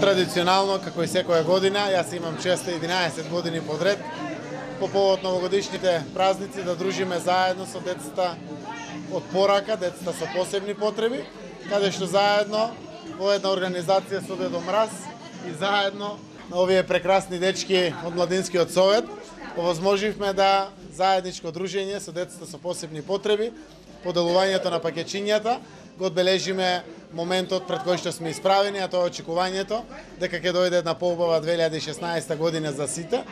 Традиционално, како и секоја година, јас имам честа 11 години подред, по повод новогодишните празници да дружиме заедно со децата од Порака, децата со посебни потреби, каде што заедно во една организација со Дедо Мраз и заедно на овие прекрасни дечки од Младинскиот совет овозможивме да заедничко дружење со децата со посебни потреби, поделувањето на пакетчињата, го одбележиме моментот пред кој што сме исправени, а тоа е очекувањето дека ќе дојде една поубава 2016 година за сите.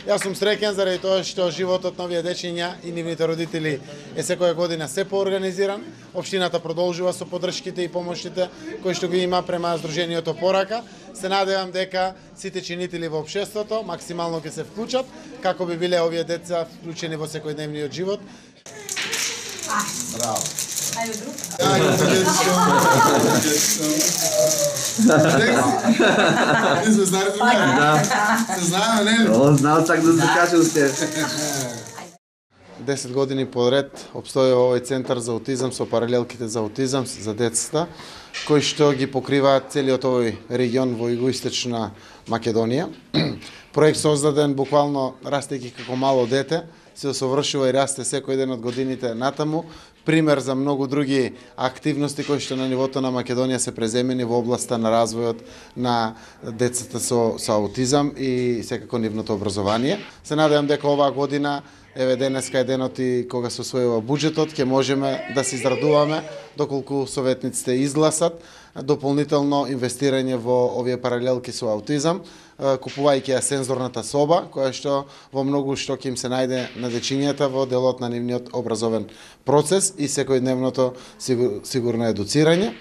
Јас сум среќен заради тоа што животот на овие дечиња и нивните родители е секоја година се поорганизиран. Општината продолжува со поддршките и помошите кои што ги има према Сдружениото Порака. Се надевам дека сите чинители во општеството максимално ќе се вклучат како би биле овие деца вклучени во секојдневниот живот. Браво. Ајде друг. Ти се знаеш друга? Да. Се знаеме, не? О, знал чак да закажа уште. 10 години подред обстојува овој центар за аутизам со паралелките за аутизам за децата, кои што ги покриваат целиот овој регион во југоисточна Македонија. Проект создаден буквално растејќи како мало дете, се усовршува и расте секој ден од годините натаму. Пример за многу други активности кои што на нивото на Македонија се преземени во областа на развојот на децата со аутизам и секако нивното образование. Се надевам дека оваа година, еве денеска е денот и кога се усвојува буџетот, ќе можеме да се израдуваме доколку советниците изгласат дополнително инвестирање во овие паралелки со аутизам, купувајќи ја сензорната соба, која што во многу што ќе им се најде на дечињата во делот на нивниот образовен процес и секојдневното сигурно едуцирање.